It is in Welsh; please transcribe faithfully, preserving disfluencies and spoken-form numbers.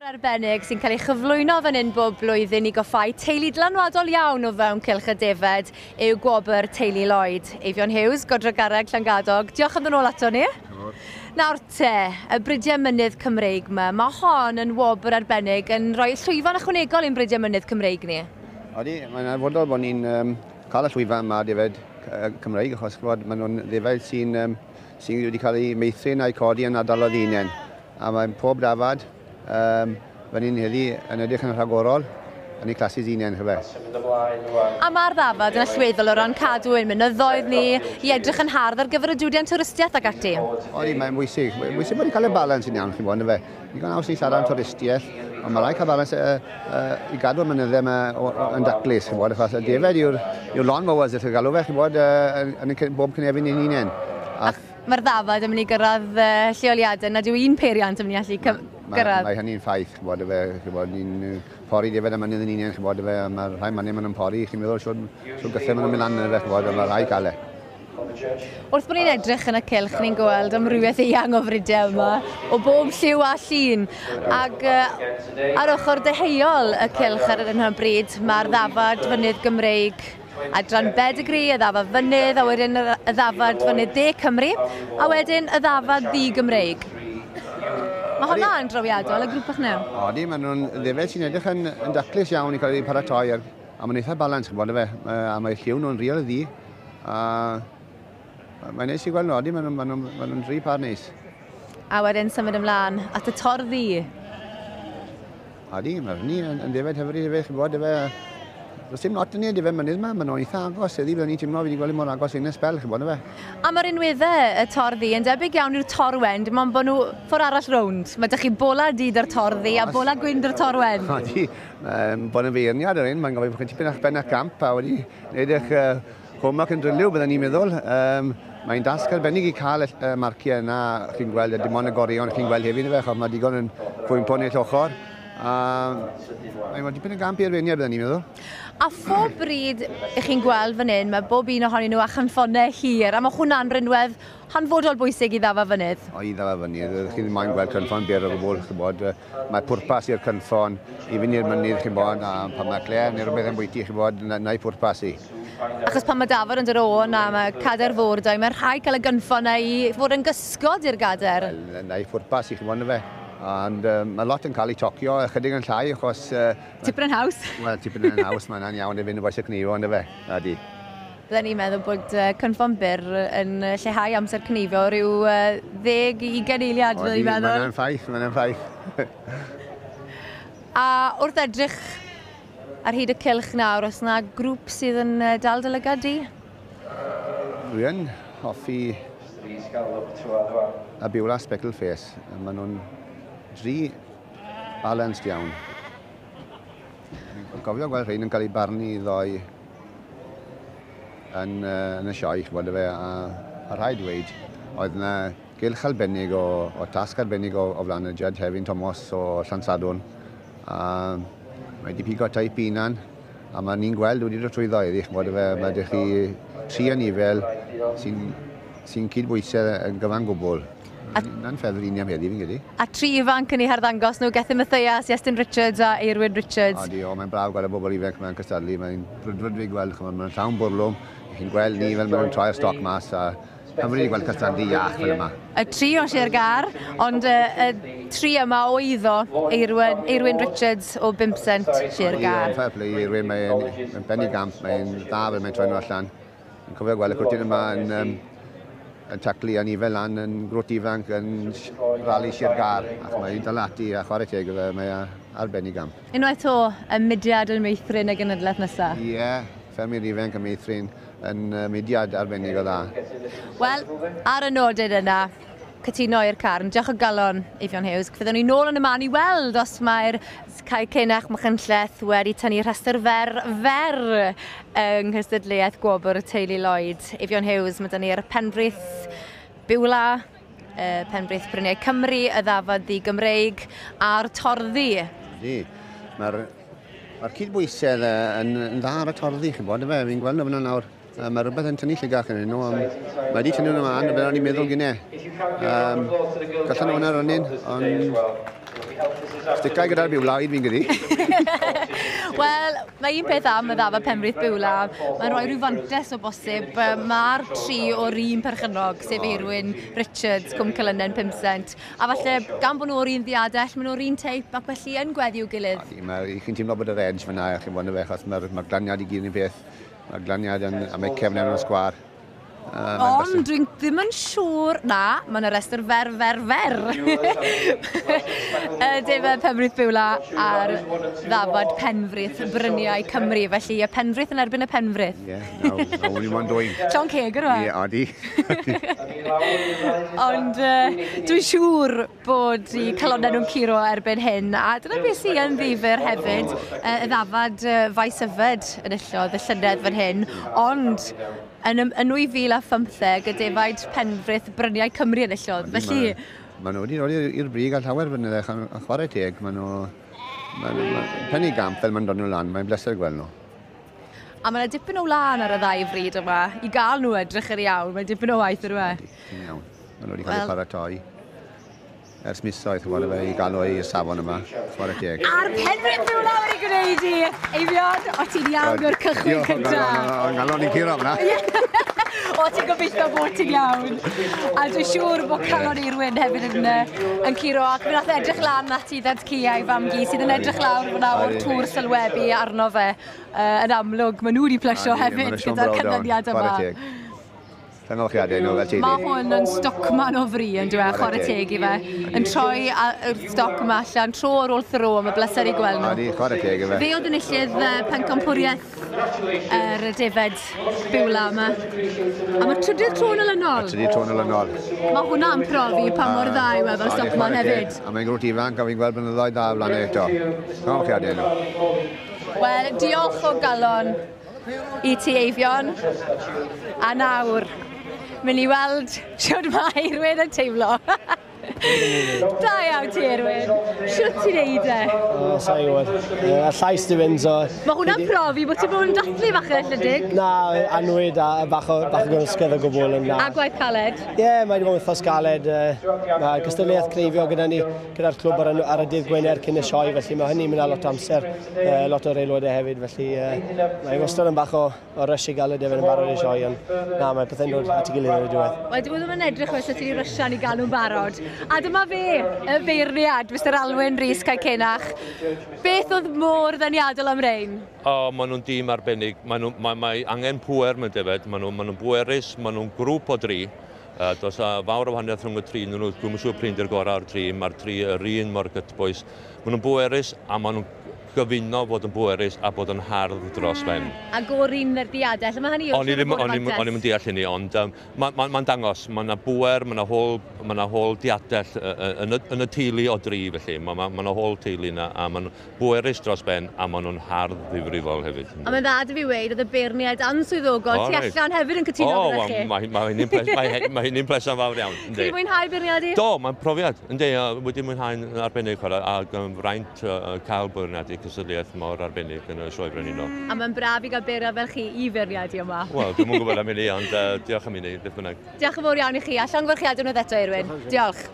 Arbennig sy'n cael ei chyflwyno fan hyn bob blwyddyn i goffau teulu dylanwadol iawn o fewn Cylch y Defed yw gwobr Teulu Lloyd. Eifion Hughes, Godro Garreg, Llangadog, diolch am ddod nôl ato ni. Nawr te, y Bridiau Mynydd Cymreig yma, mae hon yn wobr arbennig yn rhoi llwyfan ychwanegol i'n Bridiau Mynydd Cymreig ni. Odi, mae'n arfodol bod ni'n um, cael y llwyfan yma defed Cymreig, achos ch'mod, maen nhw'n ddefed sy'n um, sy wedi cael eu meithrin a'u codi yn ardaloedd hunain. A mae'n pob dafad um, fan hyn heddi yn edrych yn rhagorol yn eu classes hunain, chyfe. A mae'r ddafad yn allweddol o ran cadw ein mynyddoedd ni, i edrych yn hardd ar gyfer y diwydiant twristiaeth ac ati. Odi, mae'n bwysig. Mae'n bwysig bod ni'n cael y balans yn iawn, chi'n bod, fe. Ni'n haws i siarad am twristiaeth, ond mae rhaid cael balans uh, uh, i gadw'r mynyddau yma yn daclus, chi'n bod, achos y defed yw'r yw lawn mowers, ydych chi'n galw fe, chi'n bod, uh, yn, yn, yn bob cynefin ein hunain. A mae'r ddafad yn mynd i gyrraedd uh, lleoliadau nad yw un peiriant yn mynd i allu gyrraedd. Mae hynny'n ffaith, chi'n bod, fe, chi'n bod, ni'n pori defed y mynydd yn hunain, chi'n bod, fe, a mae'r rhai mynydd maen nhw'n pori, chi'n meddwl siwr, siwr gythau maen nhw'n mynd lan yn fe, chi'n bod, a mae rhai cael e. Wrth bod ni'n edrych yn y cylch, ni'n gweld amrywiaeth eang o fridiau yma, o bob lliw a llun. Ac uh, ar ochr deheuol y cylch ar yr hyn o bryd, mae'r ddafad fynydd Gymreig, adran Bedigri, y ddafad fynydd, a wedyn y ddafad fynydd De Cymru, a wedyn y ddafad ddu Gymreig. Mae hwnna yn drawiadol, y grŵp bach new. Odi, maen nhw'n ddefed sy'n edrych yn, yn daclus iawn i cael eu paratoi, a, a mae'n eitha balans, chi'n bod, fe, a mae lliw nhw'n real ddu. A mae'n neis i gweld nhw, odi, maen nhw'n ma nhw, ma nhw dri par neis. A wedyn symud ymlaen at y torddu. Odi, mae hynny yn, yn ddefed hyfryd hefyd, chi'n bod, efe. Does dim lot yn ni defed mynydd yma, maen nhw'n eitha agos, heddi, byddwn ni'n teimlo fi wedi gweld mor agos un sbel, chi'n bod, efe. A mae'r unweddau y torddu yn debyg iawn i'r torwen, dim ond bod nhw ffordd arall rownd. Mae dych chi bola du dy'r torddu a bola gwyn dy'r torwen. Odi, um, bod yn feirniad yr un, mae'n gofyn bod chi'n tipyn a'ch ben a'ch gamp a wedi gwneud eich uh, homework yn dryliw, byddwn ni'n meddwl. Um, mae'n dasg arbennig i cael y uh, marciau yna, chi'n gweld, dim ond y gorion chi'n gweld hefyd, efe, achos mae digon yn cwympo neu ochr. A mae'n dipyn o gamp i arweiniad, byddwn ni'n meddwl. A phob bryd ych chi'n gweld fan hyn, mae bob un ohonyn nhw â chynffonau hir, a mae hwnna'n rinwedd hanfodol bwysig i ddafad fynydd. O, i ddafad fynydd, chi ddim moyn gweld cynffon byr o gwbl, chi'n bod. Mae pwrpas i'r cynffon i fynd i'r mynydd, chi'n bod, a pan mae cler neu rhywbeth yn bwyty, chi'n bod, na'i pwrpas i. Achos pan mae dafad yn dod o na, mae cader fawr dau, mae'n rhaid cael y gynffon na i fod yn gysgod i'r gader. Wel, na'i pwrpas i, chi'n bod, na fe. Ond um, mae lot yn cael ei tocio, ychydig yn llai, achos... Uh, tipyn yn haws. Wel, tipyn yn haws, mae'n iawn i fynd y boes y cnifo, ond efe, ydy. Bydden ni'n meddwl bod uh, cynffon byr yn lleihau amser cnifo rhyw uh, ddeg i ugain eiliad, bydden ni'n meddwl. Mae'n ffaith, mae'n ffaith. A wrth edrych ar hyd y cylch nawr, oes yna grŵp sydd yn dal dy lygad di? Dwi yn hoffi y Beulah Speckle Face. Maen nhw'n dri balanced iawn. Fi'n cofio gweld rhain yn cael eu barnu ddoe yn, uh, yn y sioe, ch'bod fe, a, a rhaid dweud, oedd yna gylch arbennig o, o tasg arbennig o, o flaen y judge Hefin Thomas o Llansadwn. A mae wedi pigo teip unan, a mae ni'n gweld wedi dod trwyddo iddi, ch'bod fe, mae ydych chi tri anifel sy'n sy cydbwysau yn gyfan gwbl. Na'n ffefryn i am heddi, fi'n credu. A tri ifanc yn eu harddangos nhw, Gethin Mathias, Iestyn Richards a Eirwyn Richards. Odi, o, mae'n braf gweld y bobl ifanc mewn cystadlu, mae'n brwdfryd fi gweld, ch'mod, mae'n llawn bwrlwm, chi'n gweld ni fel maen nhw'n troi'r stoc mas, a hyfryd i gweld cystadlu iach fel yma. Y tri o Sir Gâr, ond y, y tri yma o eiddo Eirwyn, Eirwyn Richards o Bimpsent, Sir Gâr. Fair play Eirwyn, mae'n mae ben i gamp, mae'n dda fel mae'n troi nhw allan. Fi'n cofio gweld y cwtyn yma yn, um, yn taclu anifel lan yn grwt ifanc yn rali Sir Gâr, ac mae'n dal ati a chwarae teg iddo fe, mae arbennig gamp. Unwaith o, y mudiad yn meithrin y genedlaeth nesaf. Ie, yeah, ffermwyr ifanc yn meithrin yn mudiad arbennig o dda. Wel, ar y nodyn yna, cytuno i'r carn. Diolch o galon, Eifion Hughes. Fyddwn ni nôl yn y man i weld os mae'r Cae Cenach Machynlleth wedi tynnu rhestr fer fer yng nghystadleuaeth gwobr Teulu Lloyd. Eifion Hughes, mae dyn ni'r Penfrith Beulah, Penfrith Bryniau Cymru, y ddafad ddu Gymreig a'r torddu. Ydy, mae'r mae'r cydbwysedd yn, yn dda ar y torddu, chi'n bod, efe? Fi'n gweld nhw fyna nawr. Mae rhywbeth yn tynnu llygach yn nhw, ond mae wedi tynnu nhw ymlaen, fel o'n i'n meddwl gynnau. Um, Gallan nhw hwnna rynnu, ond Sticau gyda'r Biwla, un fi'n gyda. Wel, mae un peth am y ddafad Penfrith Biwla, mae'n rhoi rhyw fantes o bosib. Mae'r tri o'r un perchennog, sef Eirwyn Richards, Cwm Celynen Pumsent. A falle, gan bod nhw o'r un ddiadell, maen nhw'r un teip ac felly yn gweddu i'w gilydd. Mae, chi'n teimlo bod yr edge fyna, chi'n bod yn fe, achos mae'r ma glaniad i gyd yn un peth. Mae'r glaniad yn, a mae cefn yn y sgwâr. Uh, Ond dwi'n ddim yn siŵr, na, mae'n y restr fer, fer, fer. Y defaid Penfrith Biwla a'r ddafad Penfrith Bryniau Cymru. Felly y Penfrith yn erbyn y Penfrith. Ie, yeah, na, only one doing. Llon ceg yr Ie, odi. Ond uh, dwi'n siŵr bod i calonnau nhw'n curo erbyn hyn. A dyna beth sy'n yn ddifyr hefyd, uh, y ddafad uh, Faes Yfed enillodd y llynedd fan hyn. Ond yn, yn nwy fil a phymtheg, y defaid Penfrith Bryniau Cymru enillodd. Felly... Maen nhw wedi dod i'r brig a llawer flynydde, a chwarae teg, maen nhw... Maen nhw pen i gamp fel maen dod nhw lan, mae'n bleser gweld nhw. A mae yna dipyn o wlân ar y ddau fryd yma. I gael nhw edrych yr iawn, mae'n dipyn o waith yr yma. Yn iawn. Maen nhw wedi cael eu paratoi ers misoedd, chwarae fe, i gael nhw i'r safon yma, chwarae teg. A'r Penfrith Biwla wedi gwneud i! Eifion, o ti'n iawn o'r cychwyn cyntaf. O'n galon i'n curo fyna. O, ti'n gobeithio bod ti'n iawn. A dwi'n siŵr bod calon Eirwyn hefyd yn, yn curo. Ac mi nath edrych lan at i ddad-cu a'i fam-gu sydd yn edrych lawr fyna o'r tŵr sylwebu arno fe. Uh, yn amlwg, maen nhw wedi plesio hefyd gyda'r canlyniad yma. Llongyfarchiadau nhw fel teulu. Mae hwn yn stockman o fri yn dweud, chwarae teg i fe. Yn troi y stoc yma allan, tro ar ôl thro, mae bleser i gweld nhw. Odi, chwarae teg i fe. Fe oedd enillydd pencampwriaeth yr defed Biwla yma. A mae trydydd tro yn olynol. Trydydd tro yn olynol. Mae hwnna'n profi pa mor dda yw e fel stockman hefyd. A mae'n grwt ifanc a fi'n gweld blynyddoedd dda o flaen eto. Llongyfarchiadau nhw. Wel, diolch o galon i ti, Eifion. A nawr, mynd i weld shwt mae Eirwyn yn teimlo. Da iawn ti, Eirwyn. Shwt ti'n neud e? O, sa'i gwybod. A llais di fynd, so... Mae hwnna'n profi bod ti'n bod yn dathlu fach yn ychydig. Na, anwyd a bach o, bach o gymysgedd o gwbl yn na. A gwaith caled? Ie, yeah, mae wedi bod yn wythnos galed. Mae cystadleuaeth cneifio gyda ni, gyda'r clwb ar, ar y dydd Gwener cyn y sioe, felly mae hynny'n mynd â lot o amser, lot o'r aelodau hefyd, felly mae wastad yn bach o, o rush i gael y defaid yn barod i sioe, ond na, mae pethau'n dod at ei gilydd yn y diwedd. Wel, dwi ddim yn edrych fel se ti'n ryshan i gael nhw'n barod. A dyma fe, y beirniad, Mister Alwyn Rhys Caecenach. Beth oedd mor ddeniadol am rein? O, maen nhw'n dîm arbennig. Maen nhw, mae, mae angen pŵer mewn defaid. Maen nhw'n nhw bwerus, maen nhw'n grŵp o dri. Uh, does a fawr o wahaniaeth rhwng y tri. Nhw, dwi'm yn siŵr p'run di'r gorau o'r tri. Mae'r tri yr un mor gytbwys. Maen nhw'n bwerus a maen nhw'n gyfuno fod yn bwerus a bod yn hardd dros ben. A go'r un ddiadell, mae hynny O'n i ddim, o'n i'm yn deall hynny, ond um, mae'n ma, ma dangos, mae yna bwer, mae yna hôl, ma yna hôl diadell yn y, yn y teulu o dri, felly. Mae ma, ma yna hôl teulu yna, a maen bwerus dros ben, a maen nhw'n hardd ddifrifol hefyd. A mae'n dda dy fi weud, oedd y beirniaid answyddogol tu allan hefyd yn cytuno gyda chi. O, mae ma hynny'n ples, ma, ma hynny'n pleser fawr iawn. Ti wedi mwynhau beirniadu? Do, mae'n profiad, yndi, wedi mwynhau'n arbennig chwarae, ac yn fraint uh, cael beirniadu cystadleuaeth mor arbennig yn y Sioe Frenhinol. A mae'n braf i gael beirniad fel chi i feirniadu yma. Wel, dwi'm yn gwybod am hynny, ond uh, diolch am hynny, beth bynnag. Diolch yn fawr iawn i chi, a llongyfarchiadau unwaith eto, Eirwyn. Diolch.